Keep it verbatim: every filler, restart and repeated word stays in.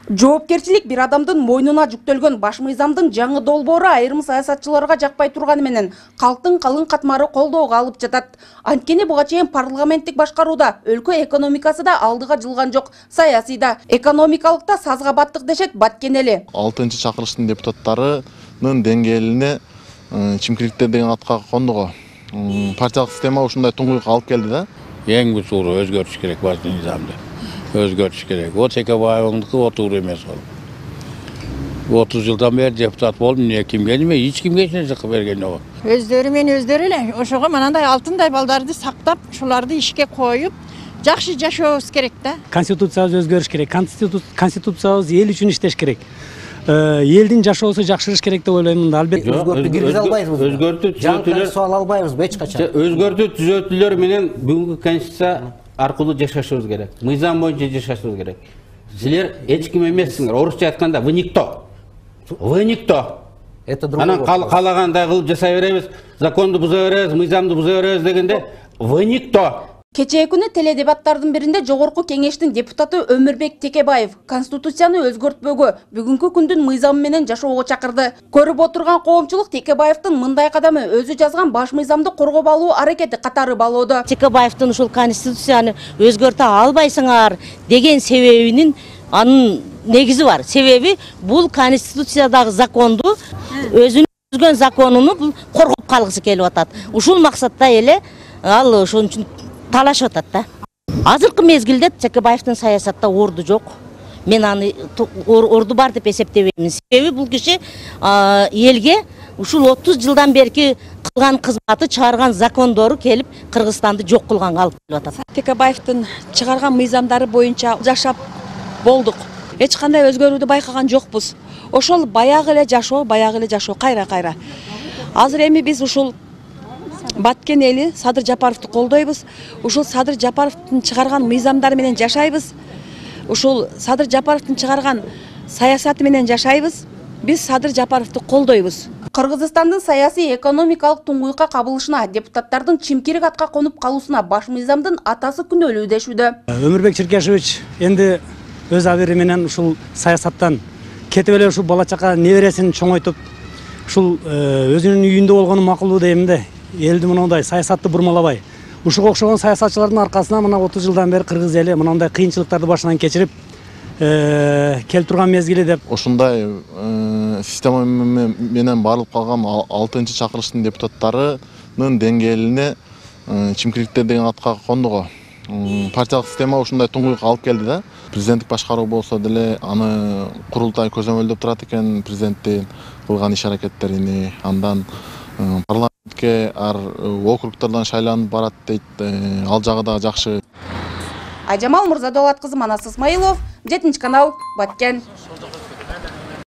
Жоопкерчилик бир адамдын мойнуна жүктөлгөн баш мыйзамдын жаңы долбоору айрым саясатчыларга жакпай турганы менен калктын калың катмары колдоого алып жатат. Анткени буга чейин парламенттик башкарууда өлкө экономикасы да алдыга жылган жок, саясий да, экономикалык да сазга баттык дешет Баткенели. алтынчы чакырылыштын депутаттарынын деңгээлине чимкириктер деген атка кондуго. Партиялык система ушундай туңгуйукка алып келди да. Эң бутуру өзгөртүш керек баш мыйзамды. Өзгөртүш керек. О Текебаевдики отур эмес ол. отуз жылдан бери депутат болдум, эмне кимге эме эч кимге эч нерсе кылып берген жок. Өздөрү менен өздөрү эле ошого манандай алтындай балдарды сактап, шуларды ишке коюп, жакшы жашообуз керек да. Конституциябыз өзгөрүш керек. Конституциябыз эл үчүн иштеш керек. Элдин жашоосу жакшырыш керек деп ойлоймун да. Албетте өзгөртүү киргизе албайбыз. Өзгөртүү түзөтүүлөр суал албайбыз эч качан. Өзгөртүү түзөтүүлөр менен бүгүнкү конституция аркылуу жашашыбыз керек. Мыйзам боюнча жашашыбыз керек. Силер эч ким эмессиңер. Орусча айтканда вы никто. Вы никто. Это другой. Анан каалагандай кылып жасай беребиз, законду буза беребиз, мыйзамды буза беребиз дегенде вы никто. Кечээ күнү теледебаттардын биринде Жогорку Кеңештин депутаты Өмүрбек Текебаев Конституцияны өзгөртпөгө, бүгүнкү күндүн мыйзамы менен жашоого чакырды. Көрүп отурган коомчулук Текебаевдин мындай кадамы өзү жазган баш мыйзамды коргоп алуу аракети катары балоодо. Текебаевдин ушул Конституцияны өзгөртө албайсыңар деген себебинин анын негизи бар. Себеби бул Конституциядагы законду өзүнүн түзгөн законуну бул коргоп калгысы келип атат. Ушул максатта эле ал ошон үчүн талашып атат да. Азыркы мезгилде Текебаевдин саясатта орду жок. Мен аны орду бар деп эсептебеймин. Себеби бул киши элге ушул отуз жылдан берки кылган кызматы, чыгарган закондору келип Кыргызстанды жок кылганга алып келип атат. Текебаевдин чыгарган мыйзамдары боюнча жашап болдук. Эч кандай өзгөрүүдү байкаган жокпуз. Ошол баягы эле жашоо, баягы эле жашоо кайра-кайра. Азыр эми биз ушул Баткен эли Садыр Жапаровду колдойбуз. Ушул Садыр Жапаровдун чыгарган мыйзамдары менен жашайбыз. Ушул Садыр Жапаровдун чыгарган саясаты менен жашайбыз. Биз Садыр Жапаровду колдойбуз. Кыргызстандын саясий экономикалык туңгуйукка кабылышына, депутаттардын чимкирик атка конуп калуусуна баш мыйзамдын атасы күнөөлүү дешүүдө. Өмүрбек Черкешевич энди өз абири менен ушул саясаттан кетип эле ушул бала чака небересин чоңойтуп, ушул өзүнүн үйүндө болгону макулдуу дейм да. Элди мындай саясатты бурмалабай, ушуга окшогон саясатчылардын аркасынан мына отуз жылдан бери кыргыз эли мындай кыйынчылыктарды башынан кечирип келип турган мезгили деп. Ушундай система менен барылып калган алтынчы чакырылыштын депутаттарынын деңгээлине чимкириктер деген атка кондуго. Партиялык система ушундай туңгуйукка алып келди да. Президенттик башкаруу болсо деле аны курултай көзөмөлдөп турат экен, президенттин кылган иш аракеттерини, андан парламентке ар округтордон шайланып барат дейт. Ал жагы да жакшы. Айжамал Мурзадолат кызы, Манас Исмаилов, жетинчи канал, Баткен.